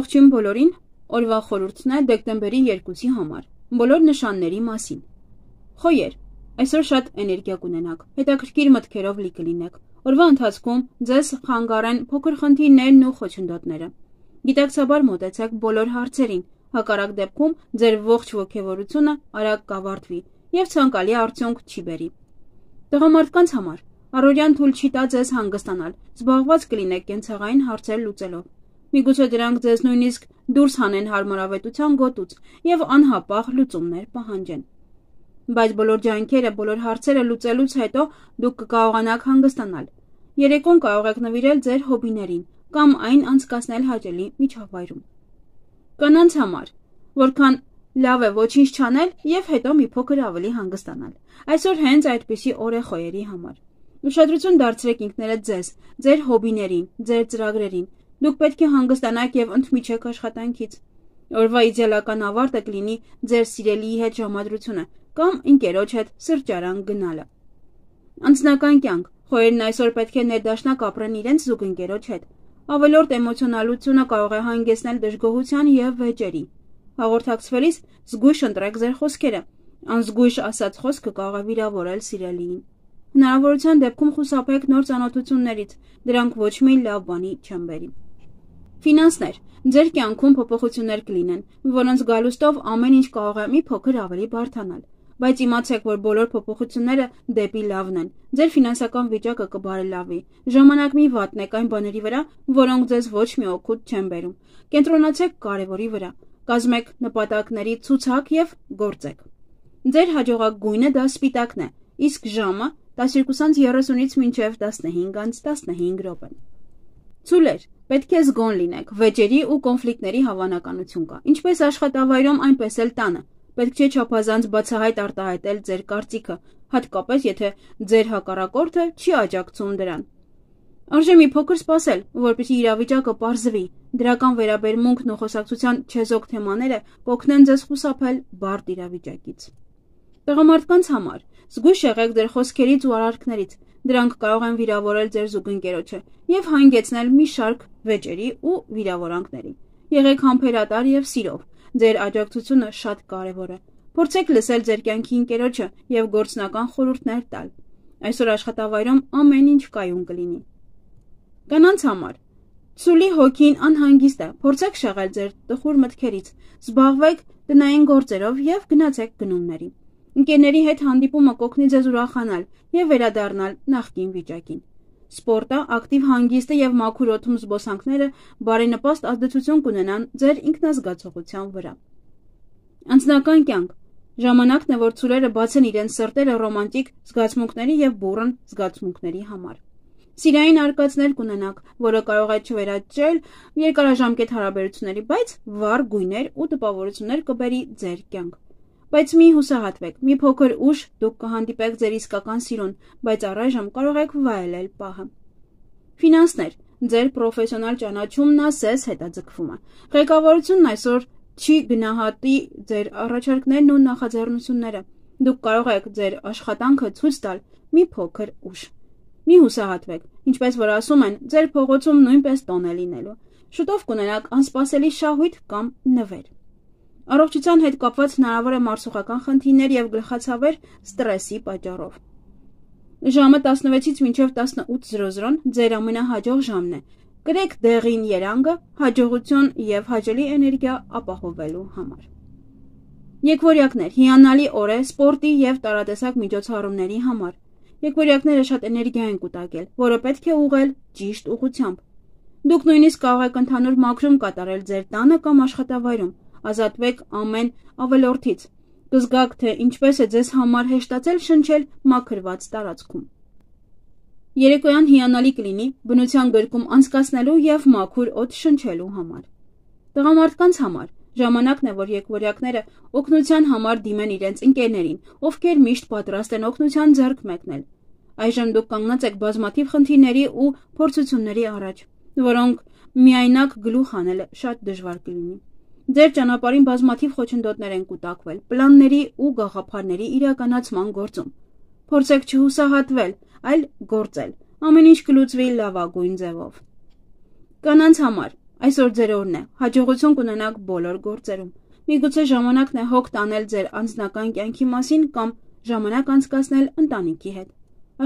Ողջույն բոլորին, օրվա խորհուրդն է դեկտեմբերի 2-ի համար, բոլոր նշանների մասին։ Խոյեր, այսօր շատ էներգիա կունենաք, հետաքրքիր մտքերով լի կլինեք, օրվա ընթացքում ձեզ խանգարեն փոքր խնդիրներն ու խոչընդոտները։ Գիտակցաբար մոտեցեք բոլոր հարցերին, հակառակ դեպքում ձեր ողջ ոգևորությունը արագ կավարտվի և ցանկալի արդյունք չի բերի։ Տղամարդկանց համար առօրյան թույլ չի տա ձեզ հանգստանալ, զբաղված կլինեք կենցաղային հարցեր լուծելով։ Միգուցե դրանք ձեզ նույնիսկ դուրս հանեն հարմարավետության գոտուց և անհապաղ լուծումներ պահանջեն։ Բայց բոլոր ջանքերը, բոլոր հարցերը լուծելուց հետո դուք կկարողանաք հանգստանալ։ Երեկոն կարող եք նվիրել ձեր հոբիներին կամ այն անցկացնել հաճելի միջավայրում։ Կանանց համար որքան լավ է ոչինչ չանել և հետո մի փոքր ավելի հանգստանալ։ Այսօր հենց այդպիսի օր է խոյերի համար։ Ուշադրություն դարձրեք ինքներդ ձեզ, ձեր հոբիներին, ձեր ծրագրերին։ Դուք պետք է հանգստանաք և ընդմիջեք աշխատանքից։ Օրվա իդեալական ավարտը կլինի ձեր սիրելիի հետ ժամադրությունը կամ ընկերոջ հետ սրճարան գնալը։ Անձնական կյանք խոյերն այսօր պետք է ներդաշնակ ապրեն իրենց զուգընկերոջ հետ։ Ավելորդ էմոցիոնալությունը կարող է հանգեցնել դժգոհության և վեճերի։ Հաղորդակցվելիս զգույշ ընտրեք ձեր խոսքերը։ Անզգույշ ասած խոսքը կարող է վիրավորել սիրելիին։ Հնարավորության դեպքում խուսափեք նոր ծանոթություններից, դրանք ոչ մի լավ բանի չեն բերի։ Ֆինանսներ։ Ձեր կյանքում փոփոխություններ կլինեն, որոնց գալուստով ամեն ինչ կարող է մի փոքր ավելի բարդանալ, բայց իմացեք, որ բոլոր փոփոխությունները դեպի լավն են։ Ձեր ֆինանսական վիճակը կբարելավի։ Ժամանակ մի վատնեք այն բաների վրա, որոնք ձեզ ոչ մի օգուտ չեն բերում։ Կենտրոնացեք կարևորի վրա, կազմեք նպատակների ցուցակ և գործեք։ Ձեր հաջողակ գույնը դա սպիտակն է, իսկ ժամը 12:30-ից մինչև 15:15 րոպե։ Ցուլեր, պետք է զգոն լինեք, վեճերի ու կոնֆլիկտների հավանականություն կա, ինչպես աշխատավայրում, այնպես էլ տանը։ Պետք չէ չափազանց բացահայտ արտահայտել ձեր կարծիքը, հատկապես եթե ձեր հակառակորդը չի աջակցում դրան։ Արժե մի փոքր սպասել, որպեսզի իրավիճակը պարզվի։ Դրական վերաբերմունքն ու խոսակցության չեզոք թեմաները կօգնեն ձեզ խուսափել բարդ իրավիճակից։ Տղամարդկանց համար զգույշ եղեք ձեր խոսքերից ու արարքներից, դրանք կարող են վիրավորել ձեր զուգընկերոջը և հանգեցնել մի շարք վեճերի ու վիրավորանքների։ Եղեք համբերատար և սիրով, ձեր աջակցությունը շատ կարևոր է։ Փորձեք լսել ձեր կյանքի ընկերոջը և գործնական խորհուրդներ տալ։ Այսօր աշխատավայրում ամեն ինչ կայուն կլինի։ Կանանց համար ցուլի հոգին անհանգիստ է, փորձեք շեղել ձեր տխուր մտքերից, զբաղվեք տնային գործերով և գնացեք գնումների։ Ընկերների հետ հանդիպումը կօգնի ձեզ ուրախանալ և վերադառնալ նախկին վիճակին։ Սպորտը, ակտիվ հանգիստը և մաքուր օդում զբոսանքները բարենպաստ ազդեցություն կունենան ձեր ինքնազգացողության վրա։ Անձնական կյանք ժամանակն է, որ ցուրերը բացեն իրենց սրտերը ռոմանտիկ զգացմունքների և բուռն զգացմունքների համար։ Սիրային արկածներ կունենաք, որը կարող է չվերաճել երկարաժամկետ հարաբերությունների, բայց վառ գույներ ու տպավորություններ կբերի ձեր կյանք։ Բայց մի հուսահատվեք, մի փոքր ուշ դուք կհանդիպեք ձեր իսկական սիրուն, բայց առայժմ կարող եք վայելել պահը։ Ֆինանսներ։ Ձեր պրոֆեսիոնալ ճանաչումն ասես հետաձգվում է։ Ղեկավարությունն այսօր չի գնահատի ձեր առաջարկներն ու նախաձեռնությունները։ Դուք կարող եք ձեր աշխատանքը ցույց տալ մի փոքր ուշ։ Մի հուսահատվեք, ինչպես որ ասում են, ձեր փողոցում նույնպես տոն է լինելու։ Շուտով կունենաք անսպասելի շահույթ կամ նվեր։ Առողջության հետ կապված հնարավոր է մարսողական խնդիրներ և գլխացավեր ստրեսի պատճառով։ Ժամը 16-ից մինչև 18:00 ձեր ամենահաջող ժամն է։ Կրեք դեղին երանգը հաջողություն և հաճելի էներգիա ապահովելու համար։ Եկվորյակներ, հիանալի օր է սպորտի և տարատեսակ միջոցառումների համար։ Եկվորյակները շատ էներգիա են կուտակել, որը պետք է ուղղել ճիշտ ուղղությամբ։ Դուք նույնիսկ կարող եք ընդհանուր մաքրում կատարել ձեր տանը կամ աշխատավայրում։ Ազատվեք ամեն ավելորդից։ Կզգաք, թե ինչպես է ձեզ համար հեշտացել շնչել մաքրված տարածքում։ Երեկոյան հիանալի կլինի բնության գրկում անցկացնելու և մաքուր օդ շնչելու համար։ Տղամարդկանց համար ժամանակն է, որ եկվորյակները օգնության համար դիմեն իրենց ընկերներին, ովքեր միշտ պատրաստ են օգնության ձեռք մեկնել։ Այժմ դուք կանգնած եք բազմաթիվ խնդիրների ու փորձությունների առաջ, որոնք միայնակ գլուխ անելը շատ դժվար կլինի։ Ձեր ճանապարհին բազմաթիվ խոչընդոտներ են կուտակվել պլանների ու գաղափարների իրականացման գործում։ Փորձեք չհուսահատվել, այլ գործել։ Ամեն ինչ կլուծվի լավագույն ձևով։ Կանանց համար Այսօր ձեր օրն է, հաջողություն կունենաք բոլոր գործերում։ Միգուցե ժամանակն է հոգ տանել ձեր անձնական կյանքի մասին կամ ժամանակ անցկացնել ընտանիքի հետ։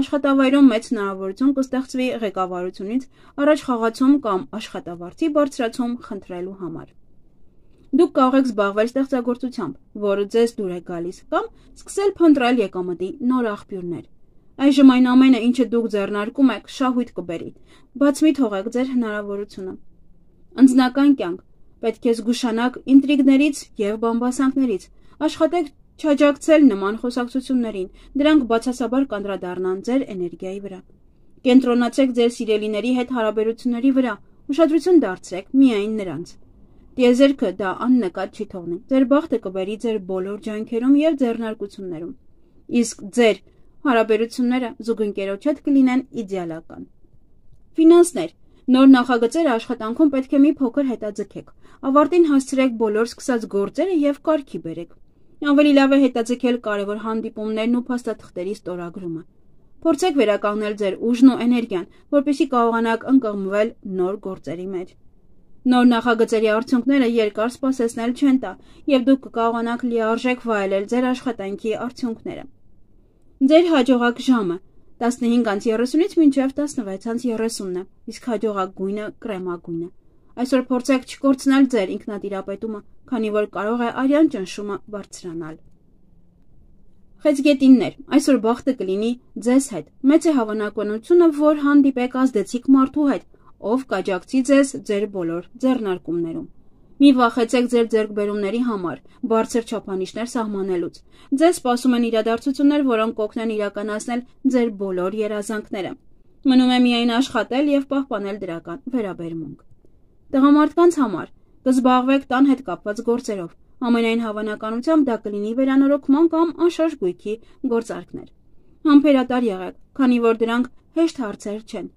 Աշխատավայրում մեծ հնարավորություն կստեղծվի ղեկավարությունից առաջ խաղացում կամ աշխատավարձի բարձրացում խնդրելու համար։ Դուք կարող եք զբաղվել ստեղծագործությամբ, որը ձեզ դուր է գալիս, կամ սկսել փնտրել եկամտի նոր աղբյուրներ։ Այժմ այն ամենը, ինչը դուք ձեռնարկում եք, շահույթ կբերի, բաց մի թողեք ձեր հնարավորությունը։ Անձնական կյանք, պետք է զգուշանաք ինտրիգներից և բամբասանքներից, աշխատեք չաջակցել նման խոսակցություններին, դրանք բացասաբար կանդրադառնան ձեր էներգիայի վրա։ Կենտրոնացեք ձեր սիրելիների հետ հարաբերությունների վրա, ուշադրություն դարձրեք միայն նրանց։ Տիեզերքը դա աննկատ չի թողնի, ձեր բախտը կբերի ձեր բոլոր ջանքերում և ձեռնարկություններում, իսկ ձեր հարաբերությունները զուգընկերոջ հետ կլինեն իդեալական։ Ֆինանսներ, նոր նախագծերը աշխատանքում պետք է մի փոքր հետաձգեք, ավարտին հասցրեք բոլոր սկսած գործերը և կարգի բերեք։ Ավելի լավ է հետաձգել կարևոր հանդիպումներն ու փաստաթղթերի ստորագրումը։ Փորձեք վերականգնել ձեր ուժն ու էներգիան, որպեսզի կարողանաք ընկղմվել նոր գործերի մեջ։ Նոր նախագծերի արդյունքները երկար սպասեցնել չեն տա, և դուք կկարողանաք լիարժեք վայելել ձեր աշխատանքի արդյունքները։ Ձեր հաջողակ ժամը 15:30-ից մինչև 16:30 է, իսկ հաջողակ գույնը կրեմագույնը։ Այսօր փորձեք չկորցնել ձեր ինքնատիրապետումը, քանի որ կարող է արյան ճնշումը բարձրանալ։ Խեցգետիններ, այսօր բախտը կլինի ձեզ հետ։ Մեծ է հավանականությունը, որ հանդիպեք ազդեցիկ մարդու հետ, ով կաջակցի ձեզ ձեր բոլոր ձեռնարկումներում։ Մի վախեցեք ձեր ձեռքբերումների համար, բարձր չափանիշներ սահմանելուց։ Ձեզ սպասում են իրադարձություններ, որոնք կօգնեն իրականացնել ձեր բոլոր երազանքները։ Մնում է միայն աշխատել և պահպանել դրական վերաբերմունք։ Տղամարդկանց համար կզբաղվեք տան հետ կապված գործերով։ Ամենայն հավանականությամբ դա կլինի վերանորոգման կամ անշարժ գույքի գործարքներ։ Համբերատար եղեք, քանի որ դրանք հեշտ հարցեր չեն։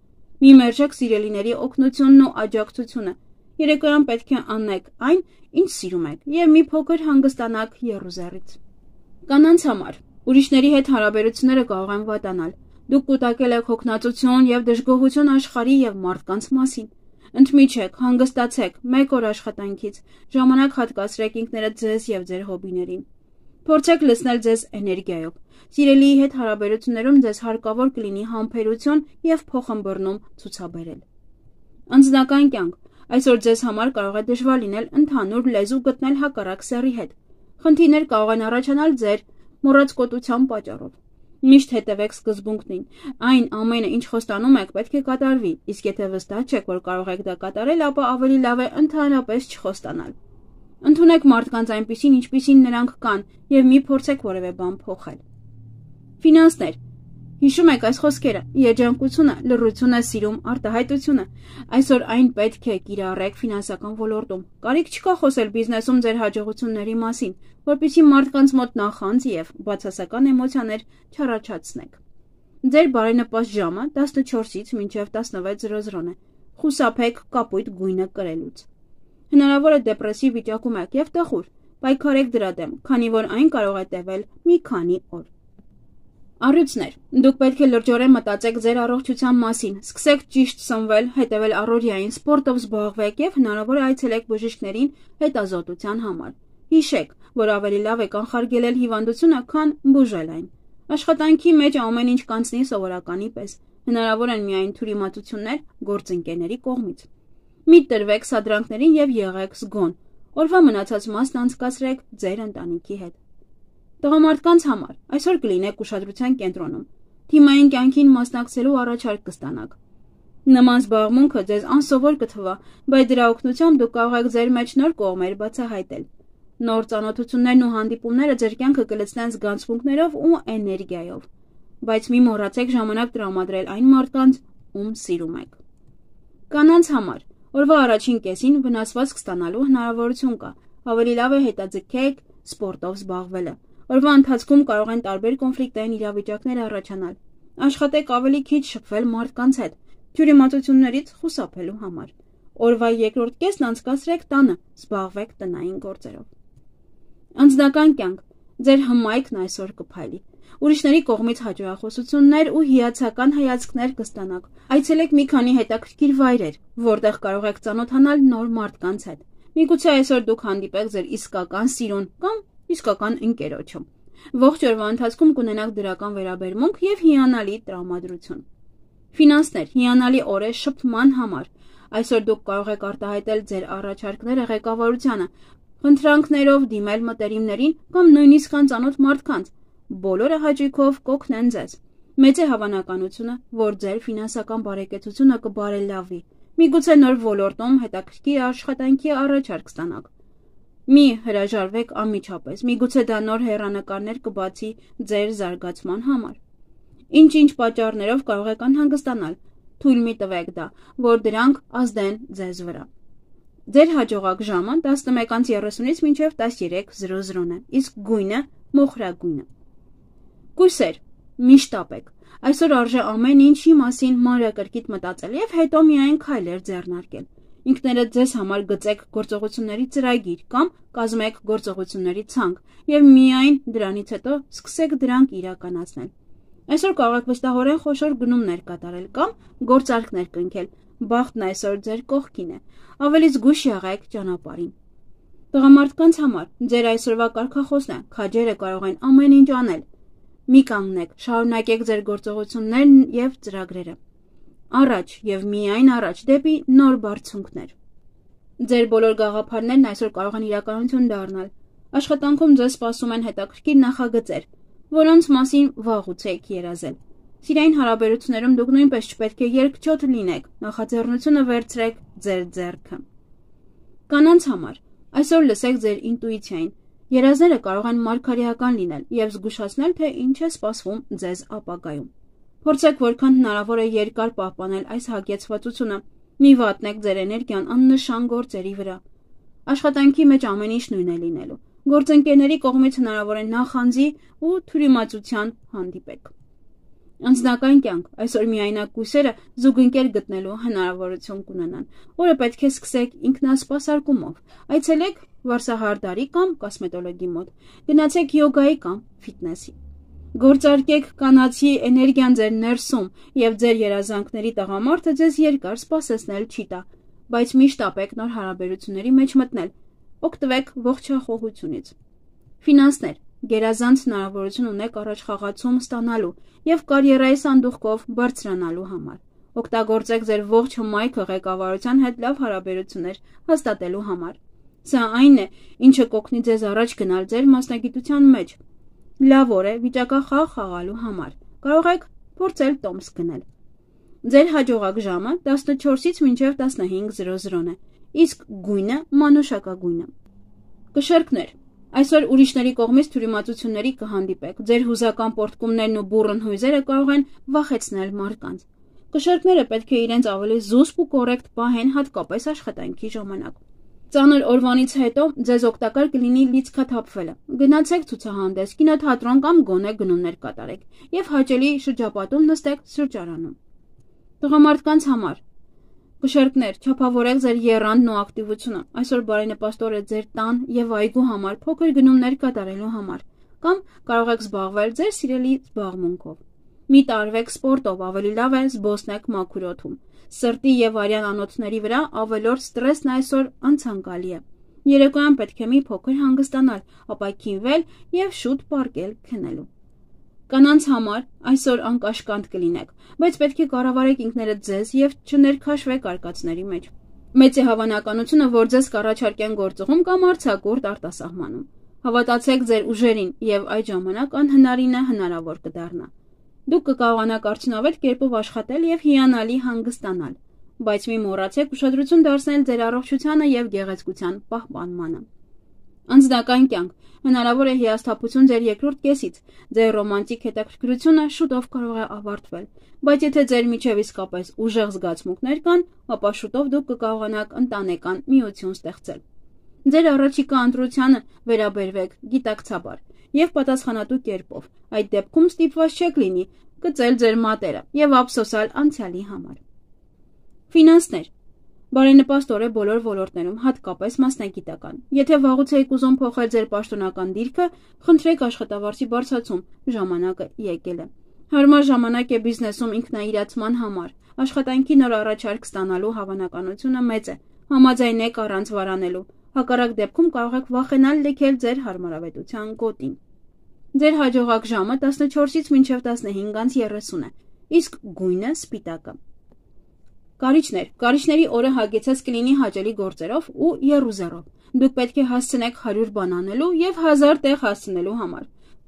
Մի մերժեք սիրելիների օգնությունն ու աջակցությունը։ Երեկոյան պետք է անեք այն, ինչ սիրում եք, և մի փոքր հանգստանաք եռուզեռից։ Կանանց համար ուրիշների հետ հարաբերությունները կարող են վատանալ։ Դուք կուտակել եք հոգնածություն և դժգոհություն աշխարհի և մարդկանց մասին։ Ընդմիջեք, հանգստացեք, մեկ օր աշխատանքից, ժամանակ հատկացրեք ինքներդ ձեզ և ձեր հոբիներին։ Փորձեք լցնել ձեզ էներգիայով։ Սիրելիի հետ հարաբերություններում ձեզ հարկավոր կլինի համբերություն և փոխըմբռնում ցուցաբերել։ Անձնական կյանք, այսօր ձեզ համար կարող է դժվար լինել ընդհանուր լեզու գտնել հակառակ սեռի հետ։ Խնդիրներ կարող են առաջանալ ձեր մոռացկոտության պատճառով։ Միշտ հետևեք սկզբունքներին։ Այն ամենը, ինչ խոստանում եք, պետք է կատարվի, իսկ եթե վստահ չեք, որ կարող եք դա կատարել, ապա ավելի լավ է ընդհանրապես չխոստանալ։ Ընդունեք մարդկանց այնպիսին, ինչպիսին նրանք կան, և մի փորձեք որևէ բան փոխել։ Ֆինանսներ, հիշում եք այս խոսքերը՝ երջանկությունը, լռությունը, սիրում, արտահայտությունը։ Այսօր այն պետք է կիրառեք ֆինանսական ոլորտում։ Կարիք չկա խոսել բիզնեսում ձեր հաջողությունների մասին, որպեսզի մարդկանց մոտ նախանձ և բացասական էմոցիաներ չառաջացնեք։ Ձեր բարենպաստ ժամը 14-ից մինչև 16:00 է։ Խուսափեք կապույտ գույնը կրելուց։ Հնարավոր է դեպրեսիվ վիճակում եք և տխուր, պայքարեք դրա դեմ, քանի որ այն կարող է տևել մի քանի օր։ Առյուծներ, դուք պետք է լրջորեն մտածեք ձեր առողջության մասին, սկսեք ճիշտ սնվել, հետևել առօրյային, սպորտով զբաղվեք և հնարավոր է այցելեք բժիշկներին հետազոտության համար։ Հիշեք, որ ավելի լավ է կանխարգելել հիվանդությունը, քան բուժել այն։ Աշխատանքի մեջ ամեն ինչ կանցնի սովորականի պես։ Հնարավոր են միայն թյուրիմացություններ գործընկերների կողմից։ Մի տրվեք սադրանքներին և եղեք զգոն։ Օրվա մնացած մասն անցկացրեք ձեր ընտանիքի հետ։ Տղամարդկանց համար այսօր կլինեք ուշադրության կենտրոնում։ Թիմային կյանքին մասնակցելու առաջարկ կստանաք։ Նման զբաղմունքը ձեզ անսովոր կթվա, բայց դրա օգնությամբ դուք կարող եք ձեր մեջ նոր կողմեր բացահայտել։ Նոր ծանոթություններն ու հանդիպումները ձեր կյանքը կլցնեն զգացմունքներով ու էներգիայով։ Բայց մի մոռացեք ժամանակ տրամադրել այն մարդկանց, ում սիրում եք։ Կանանց համար օրվա առաջին կեսին վնասվածք ստանալու հնարավորություն կա։ Ավելի լավ է հետաձգեք սպորտով զբաղվելը։ Օրվա ընթացքում կարող են տարբեր կոնֆլիկտային իրավիճակներ առաջանալ։ Աշխատեք ավելի քիչ շփվել մարդկանց հետ, թյուրիմացություններից խուսափելու համար։ Օրվա երկրորդ կեսն անցկացրեք տանը, զբաղվեք տնային գործերով։ Անձնական կյանք, ձեր հմայքն այսօր կփայլի։ ուրիշների կողմից հաճոյախոսություններ ու հիացական հայացքներ կստանաք։ Այցելեք մի քանի հետաքրքիր վայրեր, որտեղ կարող եք ծանոթանալ նոր մարդկանց հետ։ Միգուցե այսօր դուք հանդիպեք ձեր իսկական սիրուն կամ իսկական ընկերոջը։ Ողջ օրվա ընթացքում կունենաք դրական վերաբերմունք եւ հիանալի տրամադրություն։ Ֆինանսներ, հիանալի օր է շփման համար։ Այսօր դուք կարող եք արտահայտել ձեր առաջարկները ղեկավարությանը, խնդրանքներով դիմել մտերիմներին կամ նույնիսկ անծանոթ մարդկանց։ Բոլորը հաճույքով կօգնեն ձեզ։ Մեծ է հավանականությունը, որ ձեր ֆինանսական բարեկեցությունը կբարելավի։ Միգուցե նոր ոլորտում հետաքրքիր աշխատանքի առաջարկ ստանաք։ Մի հրաժարվեք անմիջապես, միգուցե դա նոր հեռանկարներ կբացի ձեր զարգացման համար։ Ինչ-ինչ պատճառներով կարող եք անհանգստանալ, թույլ մի տվեք դա, որ դրանք ազդեն ձեզ վրա։ Ձեր հաջողակ ժամը 11:30-ից մինչև 13:00 է, իսկ գույնը մոխրագույնը։ Կույսեր, մի շտապեք։ Այսօր արժե ամեն ինչի մասին մանրակրկիտ մտածել եւ հետո միայն քայլեր ձեռնարկել։ Ինքներդ ձեզ համար գծեք գործողությունների ծրագիր կամ կազմեք գործողությունների ցանկ եւ միայն դրանից հետո սկսեք դրանք իրականացնել։ Այսօր կարող եք վստահորեն խոշոր գնումներ կատարել կամ գործարքներ կնքել։ Բախտն այսօր ձեր կողքին է։ Ավելի զգույշ եղեք ճանապարհին։ Տղամարդկանց համար ձեր այսօրվա կարգախոսն է, քաջերը կարող են ամեն ինչ անել։ Մի կանգնեք, շարունակեք ձեր գործողություններն եւ ծրագրերը։ Առաջ եւ միայն առաջ դեպի նոր բարձունքներ։ Ձեր բոլոր գաղափարներն այսօր կարող են իրականություն դառնալ։ Աշխատանքում ձեզ սպասում են հետաքրքիր նախագծեր, որոնց մասին վաղուց եք երազել։ Սիրային հարաբերություններում դուք նույնպես չպետք է երկչոտ լինեք, նախաձեռնությունը վերցրեք ձեր ձեռքը։ Կանանց համար այսօր լսեք ձեր ինտուիցիային։ Երազները կարող են մարգարեական լինել եւ զգուշացնել, թե ինչ է սպասվում ձեզ ապագայում։ Փորձեք որքան հնարավոր է երկար պահպանել այս հագեցվածությունը։ Մի վատնեք ձեր էներգիան աննշան գործերի վրա։ Աշխատանքի մեջ ամեն ինչ նույնն է լինելու։ Գործընկերների կողմից հնարավոր է նախանձի ու թյուրիմացության հանդիպեք։ Անձնական կյանք այսօր միայնակ կույսերը զուգընկեր գտնելու հնարավորություն կունենան, որը պետք է սկսեք ինքնասպասարկումով։ Այցելեք վարսահարդարի կամ կոսմետոլոգի մոտ, գնացեք յոգայի կամ ֆիթնեսի։ Գործարկեք կանացի էներգիան ձեր ներսում եւ ձեր երազանքների տղամարդը ձեզ երկար սպասեցնել չի տա, բայց մի շտապեք նոր հարաբերությունների մեջ մտնել։ Օգտվեք ողջախոհությունից։ Ֆինանսներ, գերազանց հնարավորություն ունեք առաջխաղացում ստանալու եւ կարիերայի սանդուղքով բարձրանալու համար։ Օգտագործեք ձեր ողջ հմայքը ղեկավարության հետ լավ հարաբերություններ հաստատելու համար։ Սա այն է, ինչը կօգնի ձեզ առաջ գնալ ձեր մասնագիտության մեջ։ Լավ օր է վիճակախաղ խաղալու համար։ Կարող եք փորձել տոմս գնել։ Ձեր հաջողակ ժամը 14-ից մինչև 15:00 է, իսկ գույնը մանուշակագույնը։ Կշեռքներ, այսօր ուրիշների կողմից թյուրիմացությունների կհանդիպեք։ Ձեր հուզական պոռթկումներն ու բուռն հույզերը կարող են վախեցնել մարդկանց։ Կշեռքները պետք է իրենց ավելի զուսպ ու կոռեկտ պահեն, հատկապես աշխատանքի ժամանակ։ Ծանր օրվանից հետո ձեզ օգտակար կլինի լիցքաթափվելը։ Գնացեք ցուցահանդես, կինոթատրոն կամ գոնե գնումներ կատարեք եւ հաճելի շրջապատում նստեք սրճարանում։ Տղամարդկանց համար կշեռքներ, չափավորեք ձեր եռանդն ու ակտիվությունը։ Այսօր բարենպաստ օր է ձեր տան եւ այգու համար փոքր գնումներ կատարելու համար, կամ կարող եք զբաղվել ձեր սիրելի զբաղմունքով։ Մի տարվեք սպորտով, ավելի լավ է զբոսնեք մաքուր օդում։ Սրտի եւ արյան անոթների վրա ավելորդ ստրեսն այսօր անցանկալի է։ Երեկոյան պետք է մի փոքր հանգստանալ, ապա քինվել եւ շուտ պառկել քնելու։ Կանանց համար այսօր անկաշկանդ կլինեք, բայց պետք է կառավարեք ինքներդ ձեզ եւ չներքաշվեք արկածների մեջ։ Մեծ է հավանականությունը, որ ձեզ կառաջարկեն գործողում կամ արձակուրդ արտասահմանում։ Հավատացեք ձեր ուժերին եւ այդ ժամանակ անհնարինը հնարավոր կդառնա։ Դուք կկարողանաք արդյունավետ կերպով աշխատել եւ հիանալի հանգստանալ, բայց մի մոռացեք ուշադրություն դարձնել ձեր առողջությանը եւ գեղեցկության պահպանմանը։ Անձնական կյանք, հնարավոր է հիասթափություն ձեր երկրորդ կեսից, ձեր ռոմանտիկ հետաքրքրությունը շուտով կարող է ավարտվել, բայց եթե ձեր միջև իսկապես ուժեղ զգացմունքներ կան, ապա շուտով դուք կկարողանաք ընտանեկան միություն ստեղծել։ Ձեր առաջիկա ընտրությանը վերաբերվեք գիտակցաբար եւ պատասխանատու կերպով, այդ դեպքում ստիպված չեք լինի գծել ձեր մատերը եւ ափսոսալ անցյալի համար։ Ֆինանսներ, Բարենպաստ օր է բոլոր ոլորտներում, հատկապես մասնագիտական։ Եթե վաղուց եք ուզում փոխել ձեր պաշտոնական դիրքը, խնդրեք աշխատավարձի բարձրացում, ժամանակը եկել է։ Հարմար ժամանակ է բիզնեսում ինքնաիրացման համար։ Աշխատանքի նոր առաջարկ ստանալու հավանականությունը մեծ է։ Համաձայնեք առանց վարանելու։ Հակառակ դեպքում կարող եք վախենալ լքել ձեր հարմարավետության գոտին։ Ձեր հաջողակ ժամը 14-ից մինչև 15:30 է, իսկ գույնը սպիտակը։ Կարիճներ։ Կարիճների օրը հագեցած կլինի հաճելի գործերով ու եռուզեռով։ Դուք պետք է հասցնեք 100 բան անելու եւ 1000 տեղ հասցնելու համար,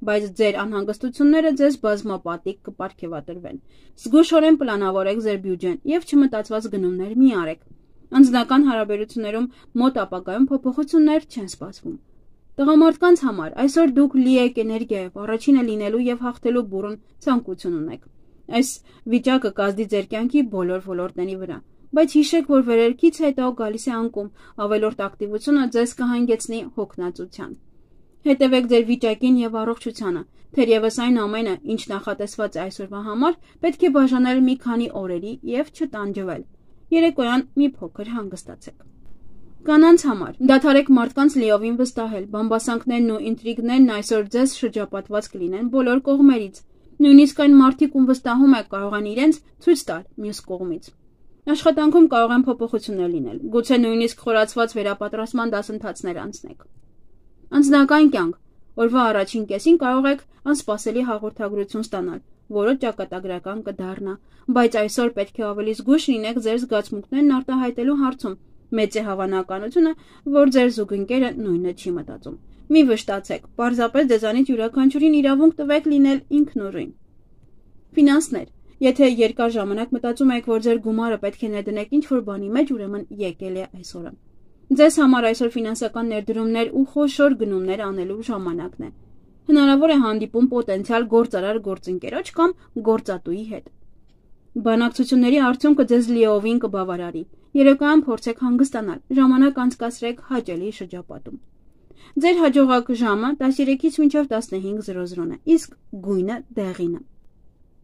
բայց ձեր անհանգստությունները ձեզ բազմապատիկ կպարգևատրվեն։ Զգուշորեն պլանավորեք ձեր բյուջեն եւ չմտածված գնումներ մի արեք։ Անձնական հարաբերություններում մոտ ապագայում փոփոխություններ չեն սպասվում։ Տղամարդկանց համար այսօր դուք լի եք էներգիայով, առաջինը լինելու եւ հաղթելու բուռն ցանկություն ունեք։ Այս վիճակը կազդի ձեր կյանքի բոլոր ոլորտների վրա, բայց հիշեք, որ վերելքից հետո գալիս է անկում, ավելորդ ակտիվությունը ձեզ կհանգեցնի հոգնածության։ Հետևեք ձեր վիճակին եւ առողջությանը, թերևս այն ամենը, ինչ նախատեսված է այսօրվա համար, պետք է բաժանել մի քանի օրերի եւ չտանջվել։ Երեկոյան մի փոքր հանգստացեք։ Կանանց համար դադարեք մարդկանց լիովին վստահել, բամբասանքներն ու ինտրիգներն այսօր ձեզ շրջապատված կլինեն բոլոր կողմերից։ Նույնիսկ այն մարդիկ, ում վստահում եք, կարող են իրենց ցույց տալ մյուս կողմից։ Աշխատանքում կարող են փոփոխություններ լինել, գուցե նույնիսկ խորացված վերապատրաստման դասընթացներ անցնեք։ Անձնական կյանք օրվա առաջին կեսին կարող եք անսպասելի հաղորդագրություն ստանալ, որը ճակատագրական կդառնա, բայց այսօր պետք է ավելի զգույշ լինեք ձեր զգացմունքներն արտահայտելու հարցում։ Մեծ է հավանականությունը, որ ձեր զուգընկերը նույնը չի մտածում։ Մի վշտացեք, պարզապես ձեզանից յուրաքանչյուրին իրավունք տվեք լինել ինքնուրույն։ Ֆինանսներ։ Եթե երկար ժամանակ մտածում եք, որ ձեր գումարը պետք է ներդնեք ինչ-որ բանի մեջ, ուրեմն եկել է այսօրը։ Ձեզ համար այսօր ֆինանսական ներդրումներ ու խոշոր գնումներ անելու ժամանակն է։ Հնարավոր է հանդիպում պոտենցիալ գործարար գործընկերոջ կամ գործատուի հետ։ Բանակցությունների արդյունքը ձեզ լիովին կբավարարի։ Երեկոյան փորձեք հանգստանալ, ժամանակ անցկացրեք հաճելի շրջապատում։ Ձեր հաջողակ ժամը 13-ից մինչև 15:00 է, իսկ գույնը դեղինը։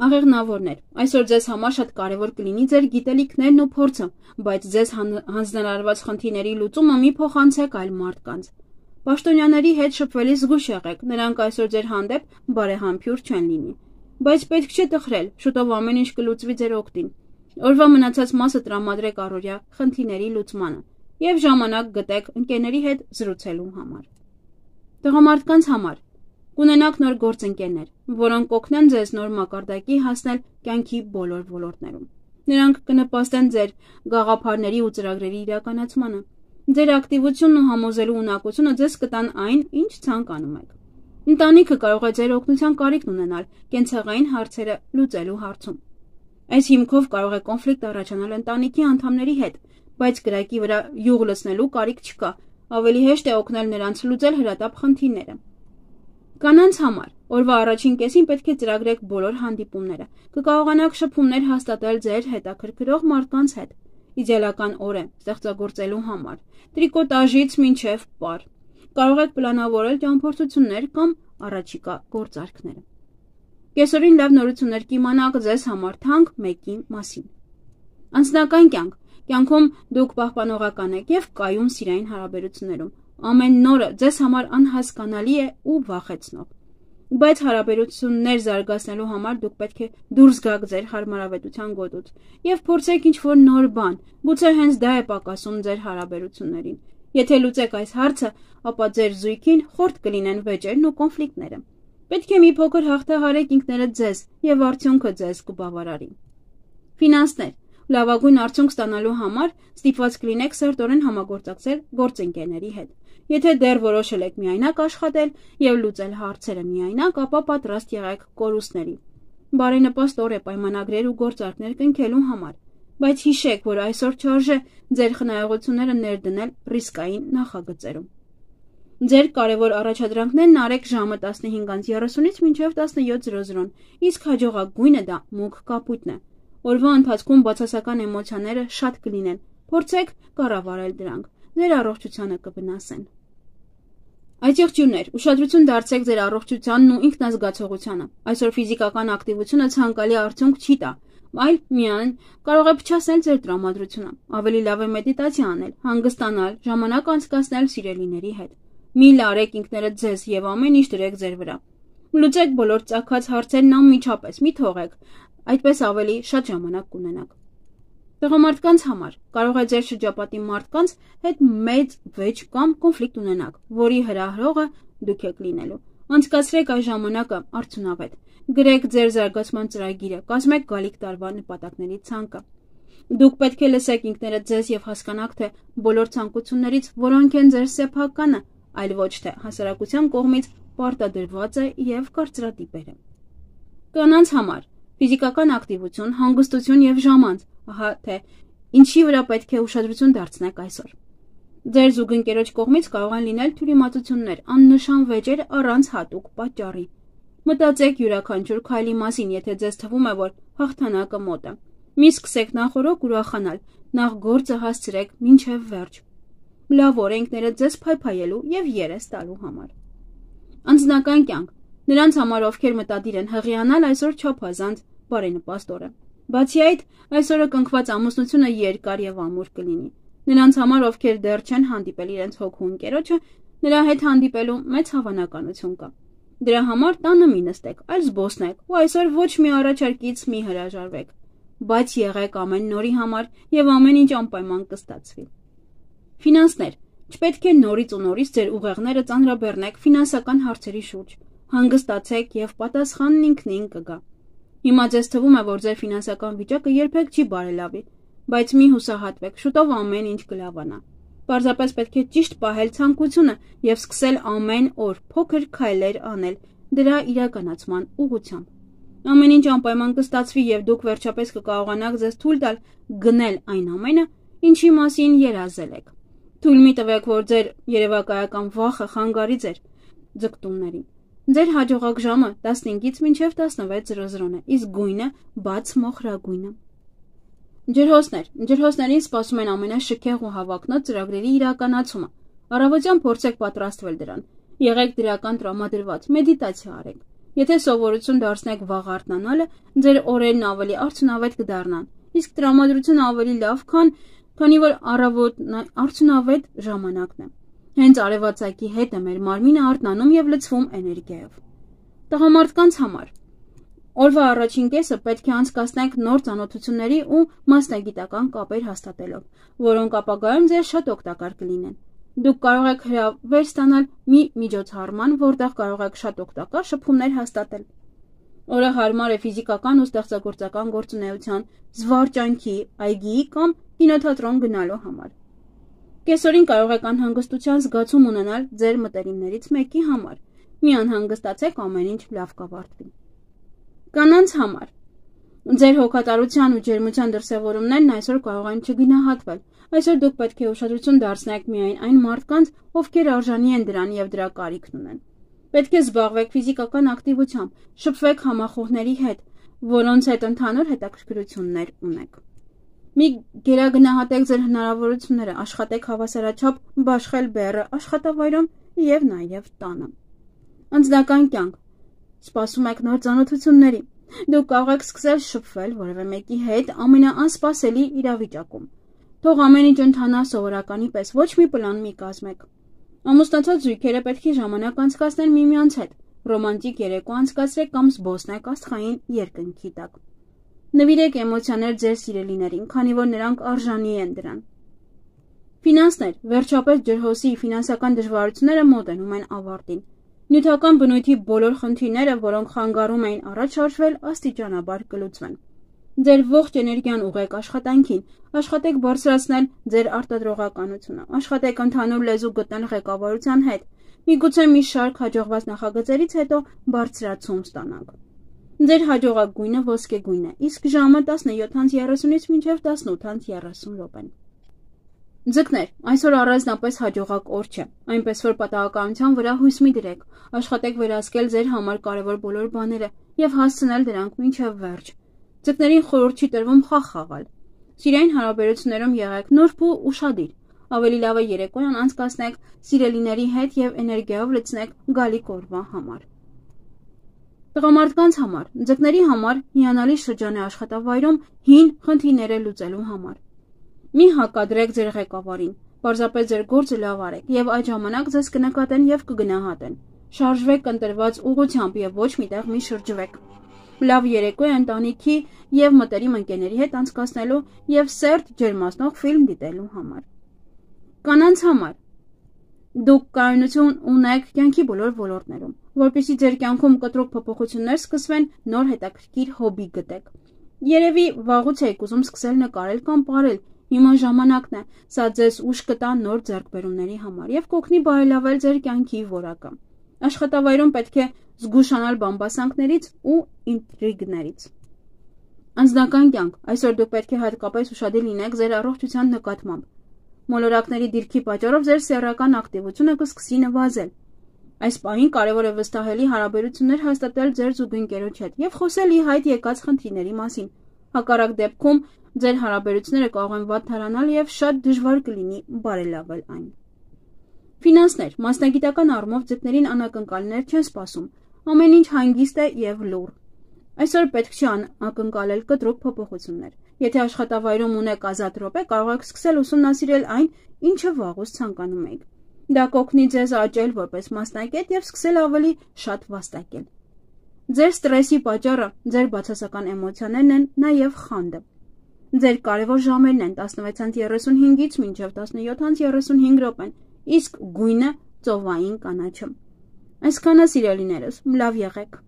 Աղեղնավորներ, այսօր ձեզ համար շատ կարևոր կլինի ձեր գիտելիքներն ու փորձը, բայց ձեզ հանձնարարված խնդիրների լուծումը մի փոխանցեք այլ մարդկանց։ Պաշտոնյաների հետ շփվելիս զգույշ եղեք, նրանք այսօր ձեր հանդեպ բարեհամբույր չեն լինի։ Բայց պետք չէ տխրել, շուտով ամեն ինչ կլուծվի ձեր օգտին։ Օրվա մնացած մասը տրամադրեք առօրյա խնդիրների լուծմանը եւ ժամանակ գտեք ընկերների հետ զրուցելու համար։ Տղամարդկանց համար կունենաք նոր գործընկերներ, որոնք կօգնեն ձեզ նոր մակարդակի հասնել կյանքի բոլոր ոլորտներում։ Նրանք կնպաստեն ձեր գաղափարների ու ծրագրերի իրականացմանը։ Ձեր ակտիվությունն ու համոզելու ունակությունը ձեզ կտան այն, ինչ ցանկանում եք։ Ընտանիքը կարող է ձեր օգնության կարիքն ունենալ կենցաղային հարցերը լուծելու հարցում։ Այս հիմքով կարող է կոնֆլիկտ առաջանալ ընտանիքի անդամների հետ, բայց կրակի վրա յուղ լցնելու կարիք չկա, ավելի հեշտ է օգնել նրանց լուծել հրատապ խնդիրները։ Կանանց համար օրվա առաջին կեսին պետք է ծրագրեք բոլոր հանդիպումները։ Կկարողանաք շփումներ հաստատել ձեր հետաքրքրող մարդկանց հետ։ Իդեալական օր է ստեղծագործելու համար։ Տրիկոտաժից մինչև պար։ Կարող եք պլանավորել ճամփորդություններ կամ առաջիկա գործարքները։ Կեսօրին լավ նորություններ կիմանաք ձեզ համար թանկ մեկի մասին։ Անձնական կյանք։ Կյանքում դուք պահպանողական եք եւ կայուն սիրային հարաբերություններում։ Ամեն նորը ձեզ համար անհասկանալի է ու վախեցնող։ Բայց հարաբերություններ զարգացնելու համար դուք պետք է դուրս գաք ձեր հարմարավետության գոտուց եւ փորձեք ինչ-որ նոր բան։ Գուցե հենց դա է պակասում ձեր հարաբերություններին։ Եթե լուծեք այս հարցը, ապա ձեր զույգին խորտ կլինեն վեճերն ու կոնֆլիկտները։ Պետք է մի փոքր հաղթահարեք ինքներդ ձեզ եւ արդյունքը ձեզ կբավարարի։ Ֆինանսներ։ Լավագույն արդյունք ստանալու համար ստիպված կլինեք սերտորեն համագործակցել գործընկերների հետ։ Եթե դեռ որոշել եք միայնակ աշխատել եւ լուծել հարցերը միայնակ, ապա պատրաստ եղեք կորուստների։ Բարենպաստ օր է պայմանագրեր ու գործարքներ կնքելու համար, բայց հիշեք, որ այսօր չարժե ձեր խնայողությունները ներդնել ռիսկային նախագծերում։ Ձեր կարևոր առաջադրանքներն արեք ժամը 15:30-ից մինչև 17:00, իսկ հաջողակ գույնը դա մուգ կապույտն է։ Օրվա ընթացքում բացասական էմոցիաները շատ կլինեն, փորձեք կառավարել դրանք, ձեր առողջությանը կվնասեն։ Այցեղջյուրներ, ուշադրություն դարձրեք ձեր առողջությանն ու ինքնազգացողությանը։ Այսօր ֆիզիկական ակտիվությունը ցանկալի արդյունք չի տա, Այլ միայն կարող է փչացնել ձեր տրամադրությունը, ավելի լավ է մեդիտացիա անել, հանգստանալ, ժամանակ անցկացնել սիրելիների հետ։ Մի լարեք ինքներդ ձեզ եւ ամեն ինչ դրեք ձեր վրա։ Լուծեք բոլոր ծագած հարցերն անմիջապես, մի թողեք, այդպես ավելի շատ ժամանակ կունենաք։ Տղամարդկանց համար կարող է ձեր շրջապատի մարդկանց հետ մեծ վեճ կամ կոնֆլիկտ ունենաք, որի հրահրողը դուք եք լինելու։ Անցկացրեք այս ժամանակը արդյունավետ։ Գրեք ձեր զարգացման ծրագիրը, կազմեք գալիք տարվա նպատակների ցանկը։ Դուք պետք է լսեք ինքներդ ձեզ եւ հասկանաք, թե բոլոր ցանկություններից որոնք են ձեր սեփականը, այլ ոչ թե հասարակության կողմից պարտադրված է եւ կարծրատիպերը։ Կանանց համար ֆիզիկական ակտիվություն, հանգստություն եւ ժամանց, ահա թե ինչի վրա պետք է ուշադրություն դարձնեք այսօր։ Ձեր զուգընկերոջ կողմից կարող են լինել թյուրիմացություններ, աննշան վեճեր առանց հատուկ պատճառի։ Մտածեք յուրաքանչյուր քայլի մասին, եթե ձեզ թվում է, որ հաղթանակը մոտ է։ Մի սկսեք նախօրոք ուրախանալ, նախ գործը հասցրեք մինչև վերջ։ Լավ օր է ինքներդ ձեզ փայփայելու եւ երես տալու համար։ Անձնական կյանք։ Նրանց համար, ովքեր մտադիր են հղիանալ, այսօր չափազանց բարենպաստ օր է։ Բացի այդ, այսօրը կնքված ամուսնությունը երկար եւ ամուր կլինի։ Նրանց համար, ովքեր դեռ չեն հանդիպել իրենց հոգու ընկերոջը, նրա հետ հանդիպելու մեծ հավանականություն կա։ Դրա համար տանը մի նստեք, այլ զբոսնեք, ու այսօր ոչ մի առաջարկից մի հրաժարվեք։ Բայց եղեք ամեն նորի համար եւ ամեն ինչ անպայման կստացվի։ Ֆինանսներ։ Չպետք է նորից ու նորից ձեր ուղեղները ծանրաբեռնեք ֆինանսական հարցերի շուրջ։ Հանգստացեք եւ պատասխանն ինքնին կգա։ Հիմա ձեզ թվում է, որ ձեր ֆինանսական վիճակը երբեք չի բարելավի, բայց մի հուսահատվեք, շուտով ամեն ինչ կլավանա։ Պարզապես պետք է ճիշտ պահել ցանկությունը եւ սկսել ամեն օր փոքր քայլեր անել դրա իրականացման ուղղությամբ։ Ամեն ինչ անպայման կստացվի եւ դուք վերջապես կկարողանաք ձեզ թույլ տալ գնել այն ամենը, ինչի մասին երազել եք։ Թույլ մի տվեք, որ ձեր երևակայական վախը խանգարի ձեր ձգտումներին։ Ձեր հաջողակ ժամը 15-ից մինչև 16:00 է, իսկ գույնը բաց մոխրագույնը։ Ջրհոսներ։ Ջրհոսներին սպասում են ամենաշքեղ ու հավակնոտ ծրագրերի իրականացումը։ Առավոտյան փորձեք պատրաստվել դրան։ Եղեք դրական տրամադրված, մեդիտացիա արեք։ Եթե սովորություն դարձնեք վաղ արթնանալը, ձեր օրերն ավելի արդյունավետ կդառնան, իսկ տրամադրությունը ավելի լավ, քանի որ առավոտն արդյունավետ ժամանակն է։ Հենց արևածագի հետ է մեր մարմինը արթնանում եւ լցվում էներգիայով։ Տղամարդկանց համար օրվա առաջին կեսը պետք է անցկացնեք նոր ծանոթությունների ու մասնագիտական կապեր հաստատելով, որոնք ապագայում ձեզ շատ օգտակար կլինեն։ Դուք կարող եք հրավեր ստանալ մի միջոցառման, որտեղ կարող եք շատ օգտակար շփումներ հաստատել։ Օրը հարմար է ֆիզիկական ու ստեղծագործական գործունեության, զվարճանքի, այգիի կամ կինոթատրոն գնալու համար։ Կեսօրին կարող եք անհանգստության զգացում ունենալ ձեր մտերիմներից մեկի համար։ Մի անհանգստացեք, ամեն ինչ լավ կավարտվի։ Կանանց համար ձեր հոգատարության ու ջերմության դրսևորումներն այսօր կարող են չգնահատվել։ Այսօր դուք պետք է ուշադրություն դարձնեք միայն այն մարդկանց, ովքեր արժանի են դրան եւ դրա կարիքն ունեն։ Պետք է զբաղվեք ֆիզիկական ակտիվությամբ, շփվեք համախոհների հետ, որոնց հետ ընդհանուր հետաքրքրություններ ունեք։ Մի գերագնահատեք ձեր հնարավորությունները, աշխատեք հավասարաչափ բաշխել բեռը աշխատավայրում եւ նաեւ տանը։ Անձնական կյանք։ Սպասում եք նոր ծանոթությունների։ Դուք կարող եք սկսել շփվել որևէ մեկի հետ ամենաանսպասելի իրավիճակում։ Թող ամեն ինչ ընթանա սովորականի պես, ոչ մի պլան մի կազմեք։ Ամուսնացած զույգերը պետք է ժամանակ անցկացնեն միմյանց հետ, ռոմանտիկ երեկո անցկացրեք կամ զբոսնեք աստղային երկնքի տակ։ Նվիրեք էմոցիաներ ձեր սիրելիներին, քանի որ նրանք արժանի են դրան։ Ֆինանսներ, վերջապես ջրհոսի ֆինանսական դժվարությունները մոտենում են ավարտին։ Նյութական բնույթի բոլոր խնդիրները, որոնք խանգարում էին առաջ շարժվել, աստիճանաբար կլուծվեն։ Ձեր ողջ էներգիան ուղղեք աշխատանքին, աշխատեք բարձրացնել ձեր արտադրողականությունը, աշխատեք ընդհանուր լեզու գտնել ղեկավարության հետ, միգուցե մի շարք հաջողված նախագծերից հետո բարձրացում ստանաք։ Ձեր հաջողակ գույնը ոսկեգույն է, իսկ ժամը 17:30-ից մինչև 18:30 են։ Ձկներ, այսօր առանձնապես հաջողակ օր չէ, այնպես որ պատահականության վրա հույս մի դրեք, աշխատեք վերահսկել ձեր համար կարևոր բոլոր բաները եւ հասցնել դրանք մինչև վերջ։ Ձկներին խորհուրդ չի տրվում խաղ խաղալ։ Սիրային հարաբերություններում եղեք նուրբ ու ուշադիր։ Ավելի լավ է երեկոյան անցկացնեք սիրելիների հետ եւ էներգիայով լցնեք գալիք օրվա համար։ Տղամարդկանց համար, ձկների համար հիանալի շրջան է աշխատավայրում հին խնդիրները լուծելու համար։ Մի հակադրեք ձեր ղեկավարին, պարզապես ձեր գործը լավ արեք եւ այդ ժամանակ ձեզ կնկատեն եւ կգնահատեն։ Շարժվեք ընտրված ուղղությամբ եւ ոչ միտեղ մի շրջվեք։ Լավ երեկո է ընտանիքի եւ մտերիմ ընկերների հետ անցկացնելու եւ սերտ ջերմացնող ֆիլմ դիտելու համար։ Կանանց համար դուք կայունություն ունեք կյանքի բոլոր ոլորտներում, որպեսզի ձեր կյանքում կտրուկ փոփոխություններ սկսվեն, նոր հետաքրքիր հոբի գտեք։ Երևի վաղուց եք ուզում սկսել նկարել կամ պարել, հիմա ժամանակն է, սա ձեզ ուժ կտա նոր ձեռքբերումների համար եւ կօգնի բարելավել ձեր կյանքի որակը։ Աշխատավայրում պետք է զգուշանալ բամբասանքներից ու ինտրիգներից։ Անձնական կյանք, այսօր դուք պետք է հատկապես ուշադիր լինեք ձեր առողջության նկատմամբ։ Մոլորակների դիրքի պատճառով ձեր սեռական ակտիվությունը կսկսի նվազել։ Այս պահին կարևոր է վստահելի հարաբերություններ հաստատել ձեր զուգընկերոջ հետ եւ խոսել ի հայտ եկած խնդիրների մասին։ Հակառակ դեպքում ձեր հարաբերությունները կարող են վատթարանալ եւ շատ դժվար կլինի բարելավել այն։ Ֆինանսներ, մասնագիտական առումով ձկներին անակնկալներ չեն սպասում։ Ամեն ինչ հանգիստ է եւ լուռ։ Այսօր պետք չի ակնկալել կտրուկ փոփոխություններ։ Եթե աշխատավայրում ունեք ազատ րոպե, կարող եք սկսել ուսումնասիրել այն, ինչը վաղուց ցանկանում եք։ Դա կօգնի ձեզ աճել որպես մասնակետ եւ սկսել ավելի շատ վաստակել։ Ձեր ստրեսի պատճառը ձեր բացասական էմոցիաներն են, նաեւ խանդը։ Ձեր կարևոր ժամերն են 16:35-ից մինչև 17:35 րոպեն, իսկ գույնը ծովային կանաչը։ Այսքանը սիրելիներս, լավ եղեք։